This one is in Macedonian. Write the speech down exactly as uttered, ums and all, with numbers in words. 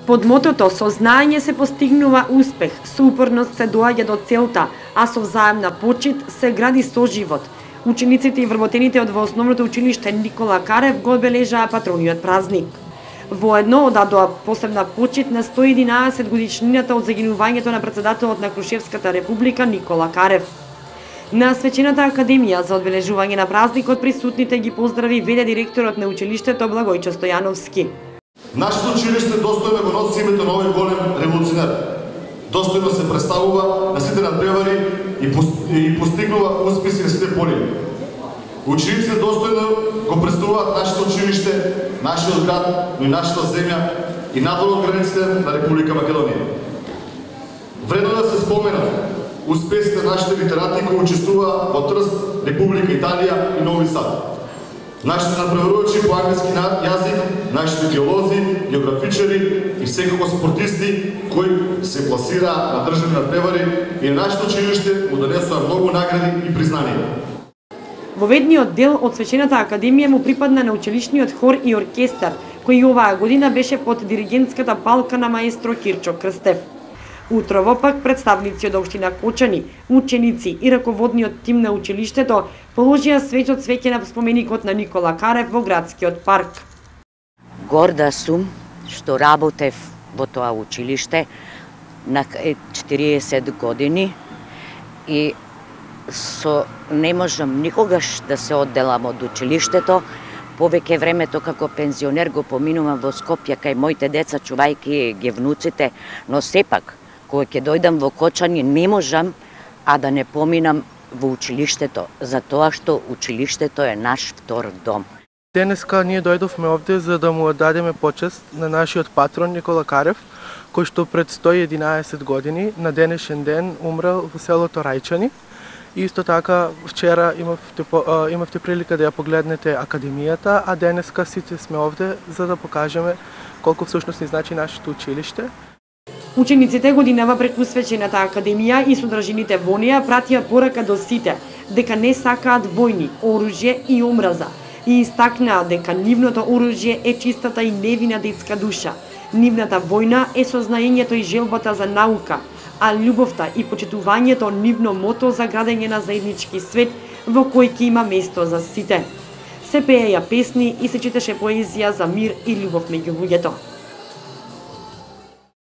Под мотото «Со знаење се постигнува успех, со упорност се доаѓа до целта, а со взаемна почит се гради соживот», учениците и вработените од во основното училиште Никола Карев го одбележаа патрониот празник. Воедно одадоа посебна почит на сто и единаесет годишнината од загинувањето на председателот на Крушевската република Никола Карев. На свечената академија за одбележување на празникот присутните ги поздрави веде директорот на училиштето Благојчо Стојановски. Нашето училиште достојно го носи името на овој голем револуционер. Достојно се представува на сите надпревари и постигнува успеси на сите поли. Учениците достојно го представуваат нашето училиште, нашиот град, но и нашата земја и надвор од границите на Република Македонија. Вредно да се спомена успесите на нашите литерати кои учествуваа во Трст, Република Италија и Нови Сад. Нашите надпреварувачи по англиски јазик, нашите биолози, географичари и секако спортисти кои се пласираа на државни надпревари и на нашето училиште му донесоа многу награди и признанија. Воведниот дел од свечената академија му припадна на училишниот хор и оркестар, кој оваа година беше под диригентската палка на маестро Кирчо Крстев. Утрово пак представници од општина Кочани, ученици и раководниот тим на училиштето положија свеќ од свеќе на споменикот на Никола Карев во градскиот парк. Горда сум што работев во тоа училиште на четириесет години и со не можам никогаш да се одделам од училиштето. Повеќе времето како пензионер го поминувам во Скопје кај моите деца, чувајки ги внуците, но сепак кога ќе дојдам во Кочани не можам а да не поминам во училиштето, затоа што училиштето е наш втор дом. Денеска ние дојдовме овде за да му оддадеме почест на нашиот патрон Никола Карев, кој што пред сто и единаесет години на денешен ден умрел во селото Рајчани. И исто така вчера имавте, имавте прилика да ја погледнете академијата, а денеска сите сме овде за да покажеме колку всушност ни значи нашето училиште. Учениците годинава преку свечената академија и содржините во неја пратија порака до сите дека не сакаат војни, оружје и омраза и истакнаа дека нивното оружје е чистата и невина детска душа. Нивната војна е сознаењето и желбата за наука, а љубовта и почитувањето нивно мото за градење на заеднички свет во кој ќе има место за сите. Се пееја песни и се читаше поезија за мир и љубов меѓу луѓето.